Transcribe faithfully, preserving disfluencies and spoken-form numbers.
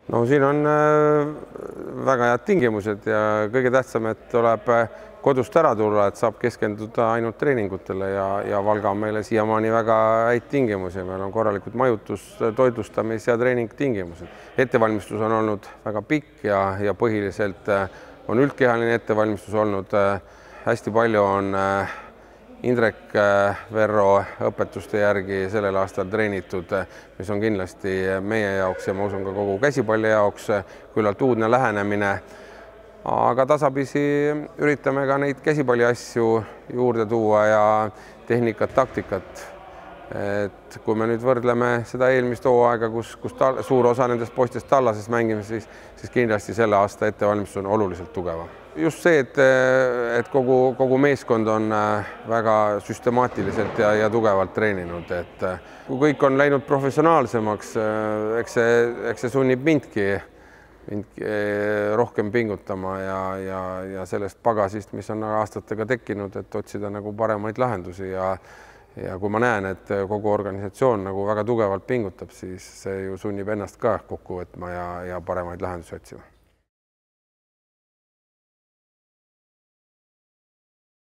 no siin on väga head tingimused ja kõige tähtsam, et tuleb kodust ära tulla, et saab keskenduda ainult treeningutele ja, ja Valga on meile siiamaani väga häid tingimusi. Meil on korralikud majutus, toitlustamis ja treeningtingimused. Ettevalmistus on olnud väga pikk ja, ja põhiliselt on üldkehaline ettevalmistus olnud. Hästi palju on Indrek Verro õpetuste järgi sellel aastal treenitud, mis on kindlasti meie jaoks ja ma usun ka kogu käsipalli jaoks küllalt uudne lähenemine. Aga tasapisi üritame ka neid käsipalli asju juurde tuua ja tehnikat, taktikat. Et kui me nüüd võrdleme seda eelmist hooaega, kus, kus ta, suur osa nendest poistest tallases mängime, siis, siis kindlasti selle aasta ettevalmistus on oluliselt tugeva. Just see, et, et kogu, kogu meeskond on väga süstemaatiliselt ja, ja tugevalt treeninud. Et kui kõik on läinud professionaalsemaks, eks see, eks see sunnib mindki, mindki rohkem pingutama ja, ja, ja sellest pagasist, mis on aastatega tekkinud, et otsida nagu paremaid lahendusi. Ja, ja kui ma näen, et kogu organisatsioon nagu väga tugevalt pingutab, siis see ju sunnib ennast ka kokku võtma ja, ja paremaid lahendusi otsima.